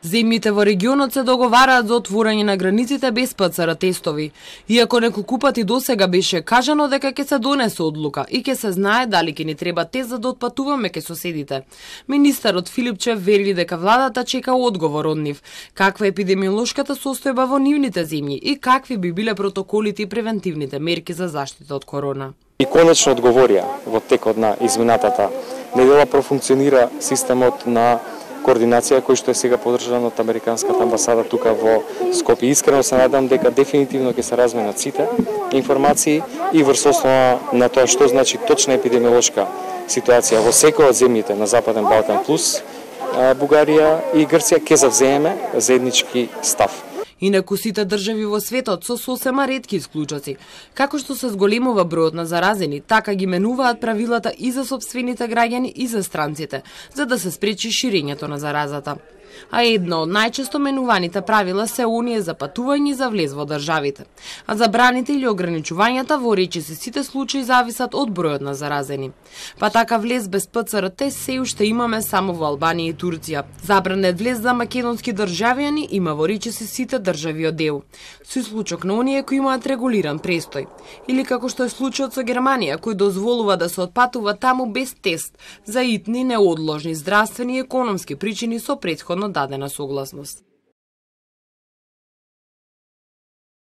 Земјите во регионот се договараат за отворање на границите без ПЦР тестови. Иако неколку пати досега беше кажано дека ќе се донесе одлука и ќе се знае дали ќе ни треба тест за да отпатуваме кај соседите. Министерот Филипчев вели дека владата чека одговор од нив, каква е епидемиолошката состојба во нивните земји и какви би биле протоколите и превентивните мерки за заштита од корона. И конечно одговорија во текот на изминатата недела профункционира системот на координација кој што е сега поддржан од Американската амбасада тука во Скопје. Искрено се надам дека дефинитивно ќе се разменат сите информации и врз основа на тоа што значи точна епидемиолошка ситуација во секоја од земјите на Западен Балкан плюс Бугарија и Грција ќе завзееме заеднички став. Инаку сите држави во светот со сосема ретки исклучоци. Како што се зголемува бројот на заразени, така ги менуваат правилата и за сопствените граѓани и за странците, за да се спречи ширењето на заразата. А едно од најчесто менуваните правила се оние за патување за влез во државите. А забраните или ограничувањата во речиси сите случаи зависат од бројот на заразени. Па така влез без ПЦР тест се уште имаме само во Албанија и Турција. Забранет влез за македонски државјани има во речиси сите држави од ЕУ, со исклучок на оние кои имаат регулиран престој. Или како што е случајот со Германија, кој дозволува да се отпатува таму без тест за итни неодложни здравствени и економски причини со претходно дадена согласност.